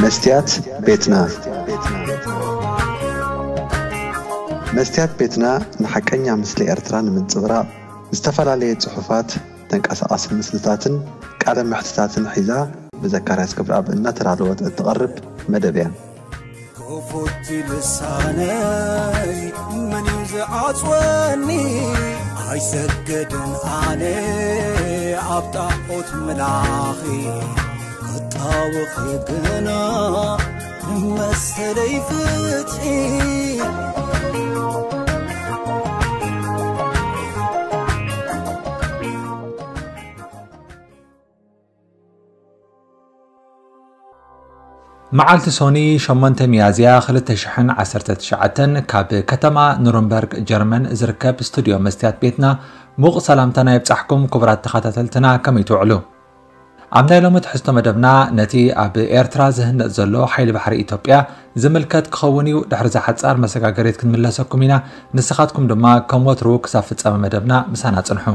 መስትያት ቤትና። መስትያት ቤትና ንሓቀኛ ምስሊ ኤርትራ ንምንጽብራቕ ዝተፈላለየ ጽሑፋት፣ ተንቀሳቓሲ ምስልታትን ቃለ መሕትታትን ሒዛ ብዘካርያስ ገብረኣብ እናተዳለወት እትቐርብ መደብ እያ። ክፉት ልሳነይ መን እዩ ዝዓጽወኒ? ኣይሰግድን ኣነ ኣብ ጣዖት ምላኺ፣ ክጣወኺ ግና መሰለይ ፍትሒ። መዓልቲ ሶኒ ሸሞንተ ሚያዝያ ክልተ ሽሕን ዓሰርተ ትሽዓተን ካብ ከተማ ኑርንበርግ ጀርመን ዝርከብ ስቱድዮ መስትያት ቤትና ሙቕ ሰላምታና ይብጻሕኩም። ክቡራት ተኸታተልትና፣ ከመይ ትውዕሉ? ኣብ ናይ ሎሚ ትሕዝቶ መደብና ነቲ ኣብ ኤርትራ ዝህነጽ ዘሎ ሓይሊ ባሕሪ ኢትዮጵያ ዝምልከት ክኸውን እዩ። ድሕሪ እዛ ሓጻር መሰጋገሪት ክንምለሰኩም ኢና። ንስኻትኩም ድማ ከም ወትሩ ክሳብ ፍጻመ መደብና ምሳና ጽንሑ።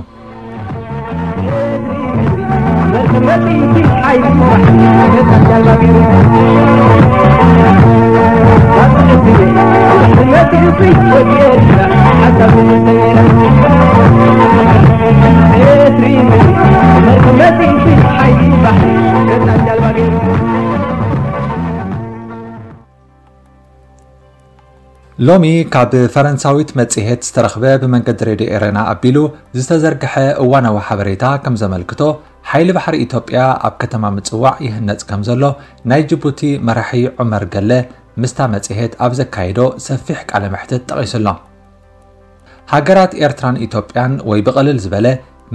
ሎሚ ካብ ፈረንሳዊት መጽሔት ዝተረኽበ ብመንገዲ ሬድዮ ኤረና ኣቢሉ ዝተዘርግሐ እዋናዊ ሓበሬታ ከም ዘመልክቶ፣ ሓይሊ ባሕሪ ኢትዮጵያ ኣብ ከተማ ምጽዋዕ ይህነጽ ከም ዘሎ ናይ ጅቡቲ መራሒ ዑመር ገለ ምስታ መጽሔት ኣብ ዘካየዶ ሰፊሕ ቃለ መሕትት ጠቒሱ ኣሎ። ሃገራት ኤርትራን ኢትዮጵያን ወይ ብቐልል ዝበለ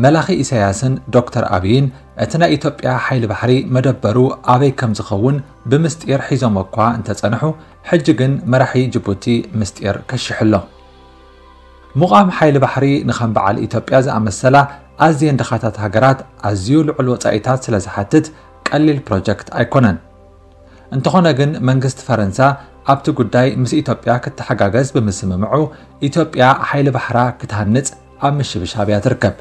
መላኺ ኢሳያስን ዶክተር ኣብይን እቲ ናይ ኢትዮጵያ ሓይሊ ባሕሪ መደበሩ ኣበይ ከም ዝኸውን ብምስጢር ሒዞሞ እኳ እንተጸንሑ፣ ሕጂ ግን መራሒ ጅቡቲ ምስጢር ከሽሑ ኣሎ። ምቋም ሓይሊ ባሕሪ ንኸም በዓል ኢትዮጵያ ዝኣመሰላ ኣዝየን ድኻታት ሃገራት ኣዝዩ ልዑል ወጻኢታት ስለ ዝሓትት ቀሊል ፕሮጀክት ኣይኮነን። እንተኾነ ግን መንግስቲ ፈረንሳ ኣብቲ ጉዳይ ምስ ኢትዮጵያ ክተሓጋገዝ ብምስምምዑ ኢትዮጵያ ሓይሊ ባሕራ ክትሃንጽ ኣብ ምሽብሻብ እያ ትርከብ።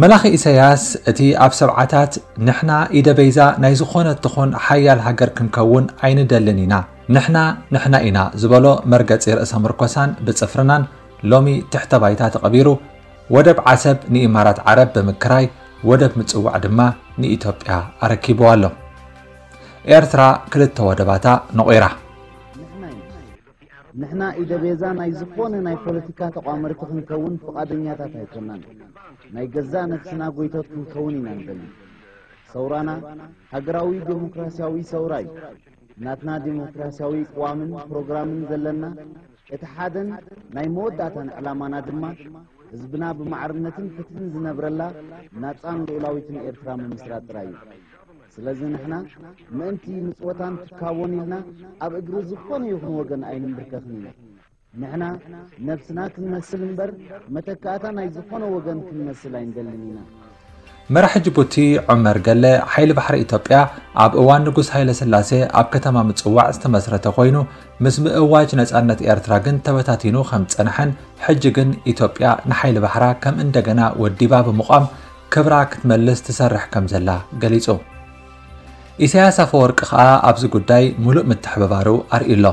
መላኺ ኢሳያስ እቲ ኣብ ሰብዓታት ንሕና ኢደ በይዛ ናይ ዝኾነት ትኹን ሓያል ሃገር ክንከውን ኣይንደልን ኢና፣ ንሕና ንሕና ኢና ዝበሎ መርገጺ ርእሰ ምርኮሳን ብጽፍርናን ሎሚ ትሕተ ባይታ ተቐቢሩ ወደብ ዓሰብ ንኢማራት ዓረብ ብምክራይ ወደብ ምጽዋዕ ድማ ንኢትዮጵያ ኣረኪብዋ ኣሎ። ኤርትራ ክልተ ወደባታ ነቒራ። ንሕና ኢደ ቤዛ ናይ ዝኾነ ናይ ፖለቲካ ተቋመርቲ ክንከውን ፍቓደኛታት ኣይኮናን። ናይ ገዛእ ነፍስና ጎይቶት ክንከውን ኢና ንደሊ። ሰውራና ሃገራዊ ዴሞክራሲያዊ ሰውራ እዩ። ናትና ዴሞክራሲያዊ ቅዋምን ፕሮግራምን ዘለና እቲ ሓደን ናይ መወዳእታን ዕላማና ድማ ህዝብና ብማዕርነትን ፍትሕን ዝነብረላ ናጻን ልኡላዊትን ኤርትራ ምምስራት ጥራይ እዩ። ስለዚ ንሕና ምእንቲ ምጽወታን ትካቦን ኢልና ኣብ እግሪ ዝኾነ ይኹን ወገን ኣይንምብርከኽን ኢና። ንሕና ነብስና ክንመስል እምበር መተካእታ ናይ ዝኾነ ወገን ክንመስል ኣይንደልን ኢና። መራሒ ጅቡቲ ዑመር ገለ ሓይሊ ባሕሪ ኢትዮጵያ ኣብ እዋን ንጉስ ሃይለ ስላሴ ኣብ ከተማ ምጽዋዕ ዝተመስረተ ኮይኑ ምስ ምእዋጅ ነጻነት ኤርትራ ግን ተበታቲኑ ከም ዝጸንሐን ሕጂ ግን ኢትዮጵያ ንሓይሊ ባሕራ ከም እንደገና ወዲባ ብምቋም ክብራ ክትመልስ ትሰርሕ ከም ዘላ ገሊጹ። ኢሳያስ ኣፈወርቂ ከኣ ኣብዚ ጉዳይ ሙሉእ ምትሕብባሩ ኣርእዩ ኣሎ።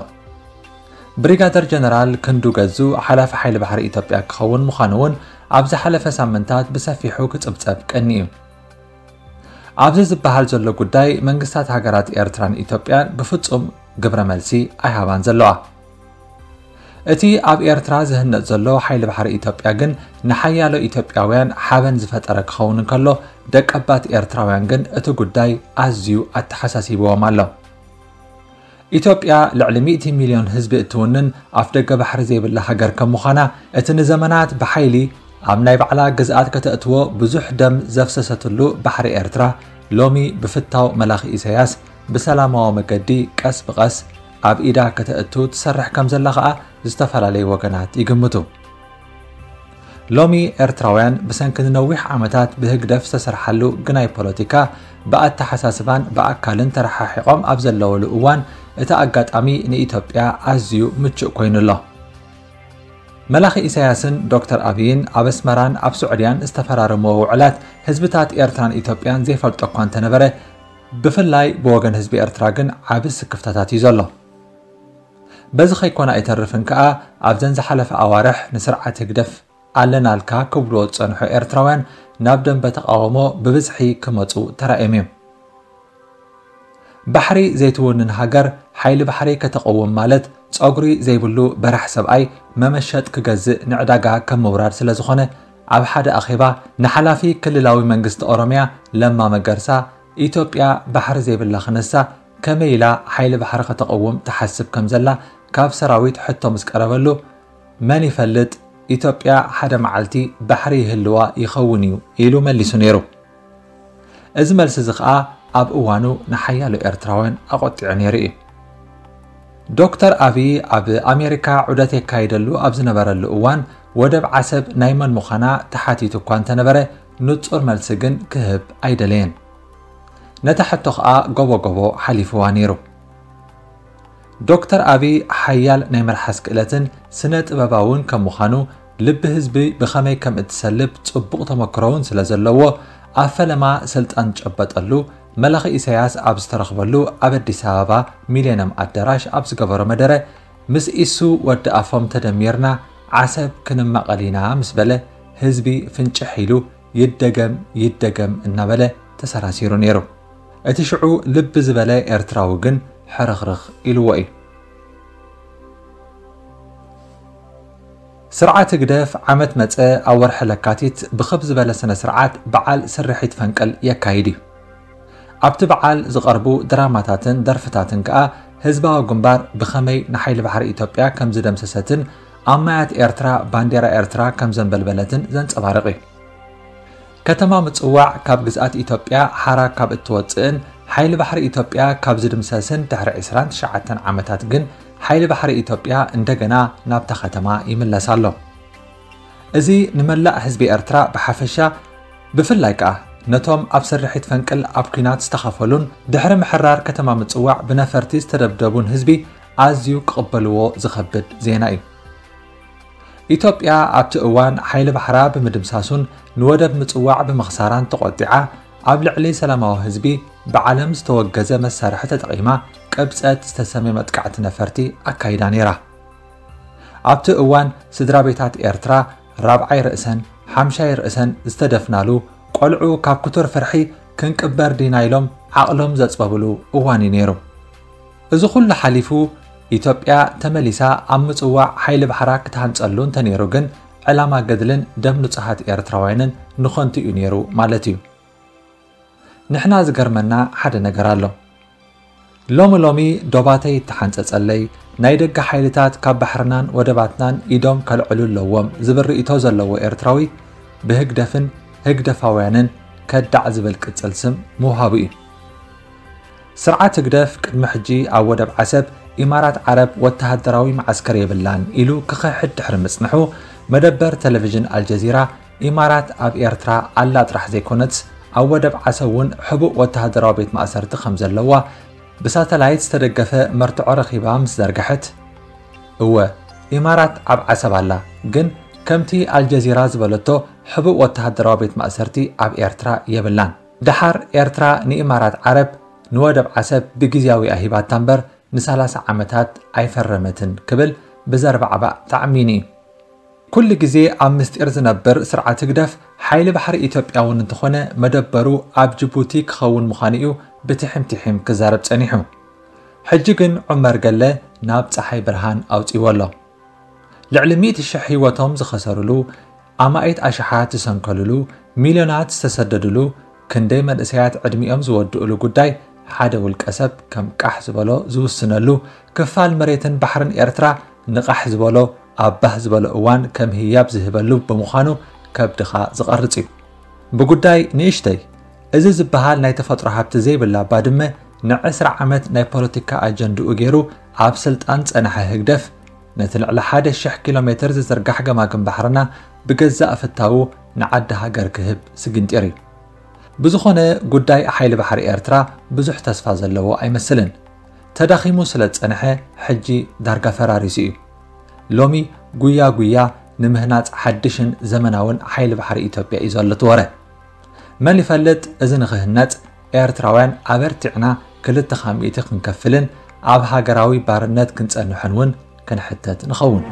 ብሪጋደር ጀነራል ክንዱ ገዙ ሓላፊ ሓይሊ ባሕሪ ኢትዮጵያ ክኸውን ምዃኑ እውን ኣብ ዝሓለፈ ሳምንታት ብሰፊሑ ክጽብጸብ ቀኒ እዩ። ኣብዚ ዝበሃል ዘሎ ጉዳይ መንግስታት ሃገራት ኤርትራን ኢትዮጵያን ብፍጹም ግብረ መልሲ ኣይሃባን ዘለዋ። እቲ ኣብ ኤርትራ ዝህነጽ ዘሎ ሓይሊ ባሕሪ ኢትዮጵያ ግን ንሓያሎ ኢትዮጵያውያን ሓበን ዝፈጠረ ክኸውን እንከሎ ደቀባት ኤርትራውያን ግን እቲ ጉዳይ ኣዝዩ ኣተሓሳሲብዎም ኣሎ። ኢትዮጵያ ልዕሊ ሚእቲ ሚልዮን ህዝቢ እትውንን ኣፍደገ ባሕሪ ዘይብላ ሃገር ከም ምዃና እቲ ንዘመናት ብሓይሊ ኣብ ናይ ባዕላ ግዝኣት ከተእትዎ ብዙሕ ደም ዘፍሰሰትሉ ባሕሪ ኤርትራ ሎሚ ብፍታው መላኺ ኢሳያስ ብሰላማዊ መገዲ ቀስ ብቐስ ኣብ ኢዳ ከተእቱ ትሰርሕ ከም ዘላ ኸኣ ዝተፈላለዩ ወገናት ይግምቱ። ሎሚ ኤርትራውያን ብሰንኪ ንነዊሕ ዓመታት ብህግደፍ ዝተሰርሓሉ ግናይ ፖለቲካ ብኣተሓሳስባን ብኣካልን ተረሓሒቖም ኣብ ዘለወሉ እዋን እቲ ኣጋጣሚ ንኢትዮጵያ ኣዝዩ ምቹእ ኮይኑ ኣሎ። መላኺ ኢሳያስን ዶክተር ኣብይን ኣብ ኣስመራን ኣብ ስዑድያን ዝተፈራረምዎ ውዕላት ህዝብታት ኤርትራን ኢትዮጵያን ዘይፈልጦ እኳ እንተነበረ ብፍላይ ብወገን ህዝቢ ኤርትራ ግን ዓቢ ስክፍታታት እዩ ዘሎ። በዚ ከይኮነ ኣይተርፍን ከኣ ኣብዘን ዝሓለፈ ኣዋርሕ ንስርዓት ህግደፍ ኣለናልካ ክብልዎ ዝጸንሑ ኤርትራውያን ናብ ደንበ ተቓውሞ ብብዝሒ ክመጹ ተራእዮም እዮም። ባሕሪ ዘይትውንን ሃገር ሓይሊ ባሕሪ ከተቐውም ማለት ጸጉሪ ዘይብሉ በራሕ ሰብኣይ መመሸጥ ክገዝእ ንዕዳጋ ከም ምውራድ ስለ ዝኾነ ኣብ ሓደ ኣኼባ ንሓላፊ ክልላዊ መንግስቲ ኦሮምያ ለማ መገርሳ ኢትዮጵያ ባሕሪ ዘይብላ ክነሳ ከመይ ኢላ ሓይሊ ባሕሪ ከተቐውም ትሓስብ ከም ዘላ ካብ ሰራዊት ሕቶ ምስ ቀረበሉ መን ይፈልጥ ኢትዮጵያ ሓደ መዓልቲ ባሕሪ ይህልዋ ይኸውን እዩ ኢሉ መሊሱ ነይሩ። እዚ መልሲ እዚ ኸኣ ኣብ እዋኑ ንሓያሎ ኤርትራውያን ኣቖጢዑ ነይሩ እዩ። ዶክተር ኣብይ ኣብ ኣሜሪካ ዑደት የካይደሉ ኣብ ዝነበረሉ እዋን ወደብ ዓሰብ ናይ መን ምዃና ተሓቲቱ እኳ እንተነበረ ንጹር መልሲ ግን ክህብ ኣይደለየን። ነታ ሕቶ ኸኣ ጎቦ ጎቦ ሓሊፍዋ ነይሩ። ዶክተር ኣብይ ሓያል ናይ መልሓስ ክእለትን ስነ ጥበባውን ከም ምዃኑ ልቢ ህዝቢ ብኸመይ ከም እትሰልብ ጽቡቕ ተመክሮውን ስለ ዘለዎ ኣብ ፈለማ ስልጣን ዝጨበጠሉ መላኺ ኢሳያስ ኣብ ዝተረኽበሉ ኣብ ኣዲስ ኣበባ ሚሌንየም ኣዳራሽ ኣብ ዝገበሮ መደረ ምስ ኢሱ ወዲ ኣፎም ተደሚርና ዓሰብ ክንማቐል ኢና ምስ በለ ህዝቢ ፍንጭሕ ኢሉ ይደገም ይደገም እናበለ ተሰራሲሩ ነይሩ። እቲ ሽዑ ልቢ ዝበለ ኤርትራዊ ግን ሕርኽርኽ ኢልዎ እዩ። ስርዓት ህግደፍ ዓመት መጸ ኣብ ወርሒ ለካቲት ብኽብ ዝበለ ስነ ስርዓት በዓል ስርሒት ፈንቅል የካይድ እዩ። ኣብቲ በዓል ዝቐርቡ ድራማታትን ደርፍታትን ከኣ ህዝባዊ ግንባር ብኸመይ ንሓይሊ ባሕሪ ኢትዮጵያ ከም ዝደምሰሰትን ኣብ ማያት ኤርትራ ባንዴራ ኤርትራ ከም ዘንበልበለትን ዘንጸባርቕ እዩ። ከተማ ምጽዋዕ ካብ ግዝኣት ኢትዮጵያ ሓራ ካብ እትወጽእን ሓይሊ ባሕሪ ኢትዮጵያ ካብ ዝድምሰስን ድሕሪ ዕስራን ትሽዓተን ዓመታት ግን ሓይሊ ባሕሪ ኢትዮጵያ እንደገና ናብታ ከተማ ይምለስ ኣሎ። እዚ ንመላእ ህዝቢ ኤርትራ ብሓፈሻ ብፍላይ ከኣ ነቶም ኣብ ስርሒት ፈንቅል ኣብ ኲናት ዝተኻፈሉን ድሕሪ ምሕራር ከተማ ምጽዋዕ ብነፈርቲ ዝተደብደቡን ህዝቢ ኣዝዩ ክቕበልዎ ዝኸብድ ዜና እዩ። ኢትዮጵያ ኣብቲ እዋን ሓይሊ ባሕራ ብምድምሳሱን ንወደብ ምጽዋዕ ብምኽሳራን ተቖጢዓ ኣብ ልዕሊ ሰላማዊ ህዝቢ ብዓለም ዝተወገዘ መሳርሒ ተጠቒማ ቅብጸት ዝተሰምየ መጥቃዕቲ ነፈርቲ ኣካይዳ ነይራ። ኣብቲ እዋን ስድራ ቤታት ኤርትራ ራብዓይ ርእሰን ሓምሻይ ርእሰን ዝተደፍናሉ ቆልዑ ካብ ክቱር ፍርሒ ክንቅበር ዲና ኢሎም ዓቕሎም ዘጽበብሉ እዋን እዩ ነይሩ። እዚ ኩሉ ሓሊፉ ኢትዮጵያ ተመሊሳ ኣብ ምጽዋዕ ሓይሊ ባሕራ ክትሃንጸሉ እንተነይሩ ግን ዕላማ ገድልን ደም ንጹሃት ኤርትራውያንን ንኸንቱ እዩ ነይሩ ማለት እዩ። ንሕና ዝገርመና ሓደ ነገር ኣሎ። ሎሚ ሎሚ ዶባተይ ይተሓንጸጸለይ፣ ናይ ደገ ሓይልታት ካብ ባሕርናን ወደባትናን ኢዶም ከልዕሉ ኣለዎም ዝብል ርእይቶ ዘለዎ ኤርትራዊ ብህግደፍን ህግደፋውያንን ከዳዕ ዝብል ቅጽል ስም ምውሃቡ እዩ። ስርዓት ህግደፍ ቅድሚ ሕጂ ኣብ ወደብ ዓሰብ ኢማራት ዓረብ ወተሃደራዊ መዓስከር የብላን ኢሉ ክኽሕድ ድሕሪ ምጽንሑ፣ መደበር ቴሌቪዥን ኣልጀዚራ ኢማራት ኣብ ኤርትራ ኣላ ጥራሕ ዘይኮነትስ ኣብ ወደብ ዓሰብ እውን ሕቡእ ወተሃደራዊ ቤት ማእሰርቲ ከም ዘለዋ ብሳተላይት ዝተደገፈ መርትዖ ረኺባ ምስ ዘርግሐት፣ እወ ኢማራት ኣብ ዓሰብ ኣላ፣ ግን ከምቲ ኣልጀዚራ ዝበለቶ ሕቡእ ወተሃደራዊ ቤት ማእሰርቲ ኣብ ኤርትራ የብላን። ደሓር ኤርትራ ንኢማራት ዓረብ ንወደብ ዓሰብ ብግዝያዊ ኣሂባታ እምበር ንሰላሳ ዓመታት ኣይፈረመትን ክብል ብዘርባዕባዕ ተዓሚኑ እዩ። ኩሉ ግዜ ኣብ ምስጢር ዝነብር ስርዓት ህግደፍ ሓይሊ ባሕሪ ኢትዮጵያ እውን እንተኾነ መደበሩ ኣብ ጅቡቲ ክኸውን ምዃኑ እዩ ብትሒም ትሒም ክዛረብ ጸኒሑ። ሕጂ ግን ዑመር ገለ ናብ ጸሓይ ብርሃን ኣውጺዎ ኣሎ። ልዕሊ ሚእቲ ሽሕ ህይወቶም ዝኸሰርሉ፣ ኣማኢት ኣሽሓት ዝሰንከልሉ፣ ሚልዮናት ዝተሰደድሉ፣ ክንደይ መንእሰያት ዕድሚኦም ዝወድእሉ ጉዳይ ሓደ ውልቀ ሰብ ከም ቃሕ ዝበሎ ዝውስነሉ ክፋል መሬትን ባሕርን ኤርትራ ንቓሕ ዝበሎ ኣብ ባህ ዝበሎ እዋን ከም ህያብ ዝህበሉ ብምዃኑ ከብድኻ ዝቐርጽ እዩ። ብጉዳይ ንእሽተይ እዚ ዝበሃል ናይ ተፈጥሮ ሃብቲ ዘይብላ ባድመ ንዕስራ ዓመት ናይ ፖለቲካ ኣጀንድኡ ገይሩ ኣብ ስልጣን ጸንሐ ህግደፍ ነቲ ልዕሊ ሓደ ሽሕ ኪሎ ሜትር ዝዝርጋሕ ገማግም ባሕርና ብገዛእ ፍታዉ ንዓዲ ሃገር ክህብ ስግንጢር እዩ። ብዝኾነ ጉዳይ ሓይሊ ባሕሪ ኤርትራ ብዙሕ ተስፋ ዘለዎ ኣይመስልን። ተዳኺሙ ስለ ዝጸንሐ ሕጂ ዳርጋ ፈራሪሱ እዩ። ሎሚ ጉያ ጉያ ንምህናጽ ሓድሽን ዘመናውን ሓይሊ ባሕሪ ኢትዮጵያ እዩ ዘሎ እቲ ወረ። መን ይፈልጥ እዚ ንኽህነጽ ኤርትራውያን ኣበርቲዕና ክልተ ካብ ሚእቲ ክንከፍልን ኣብ ሃገራዊ ባርነት ክንጸንሕን እውን ክንሕተት ንኸውን።